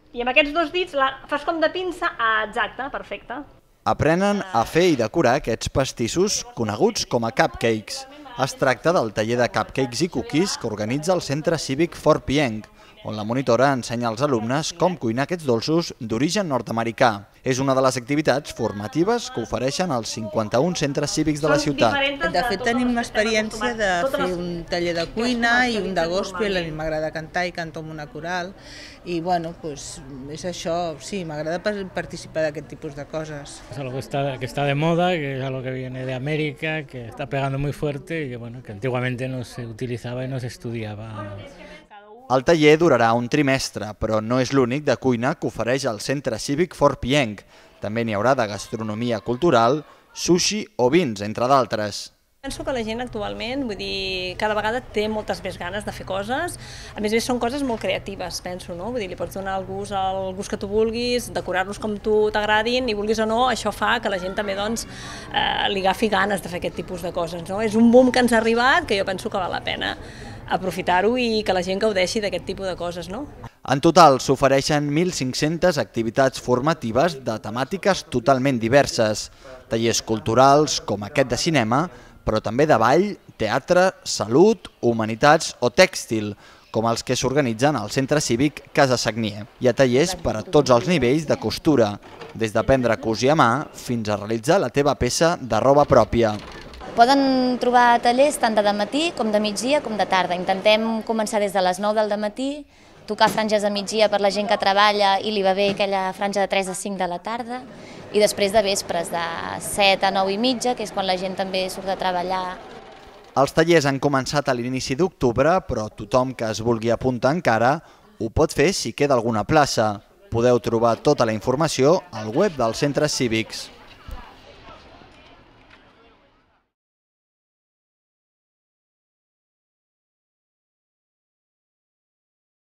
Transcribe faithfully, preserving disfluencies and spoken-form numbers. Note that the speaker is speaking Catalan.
I amb aquests dos dits la fas com de pinça, ah, exacte, perfecte. Aprenen a fer i decorar aquests pastissos coneguts com a cupcakes. Es tracta del taller de cupcakes i cookies que organitza el Centre Cívic Fort Pienc, on la monitora ensenya als alumnes com cuinar aquests dolços d'origen nord-americà. És una de les activitats formatives que ofereixen els cinquanta-un centres cívics de la ciutat. De fet, tenim l'experiència de fer un taller de cuina i un de gospel. A mi m'agrada cantar i canto amb una coral. I, bueno, pues, és això, sí, m'agrada participar d'aquest tipus de coses. Es algo que está, que está de moda, que es algo que viene de América, que está pegando muy fuerte y que, bueno, que antiguamente no se utilizaba y no se estudiaba. El taller durarà un trimestre, però no és l'únic de cuina que ofereix el Centre Cívic Fort Pienc. També n'hi haurà de gastronomia cultural, sushi o vins, entre d'altres. Penso que la gent actualment, vull dir, cada vegada té moltes més ganes de fer coses. A més a més, són coses molt creatives, penso, no? Vull dir, li pots donar el gust, el gust que tu vulguis, decorar-los com tu t'agradin, i vulguis o no, això fa que la gent també, doncs, eh, li agafi ganes de fer aquest tipus de coses, no? És un boom que ens ha arribat que jo penso que val la pena aprofitar-ho i que la gent gaudeixi d'aquest tipus de coses, no? En total s'ofereixen mil cinc-centes activitats formatives de temàtiques totalment diverses, tallers culturals com aquest de cinema, però també de ball, teatre, salut, humanitats o tèxtil, com els que s'organitzen al Centre Cívic Casa Sagnier. Hi ha tallers per a tots els nivells de costura, des d'aprendre a cosir a mà fins a realitzar la teva peça de roba pròpia. Poden trobar tallers tant de matí com de migdia com de tarda. Intentem començar des de les nou del matí, tocar franges de migdia per la gent que treballa i li va bé aquella franja de tres a cinc de la tarda, i després de vespres de set a nou i mitja, que és quan la gent també surt de treballar. Els tallers han començat a l'inici d'octubre, però tothom que es vulgui apuntar encara ho pot fer si queda alguna plaça. Podeu trobar tota la informació al web dels centres cívics.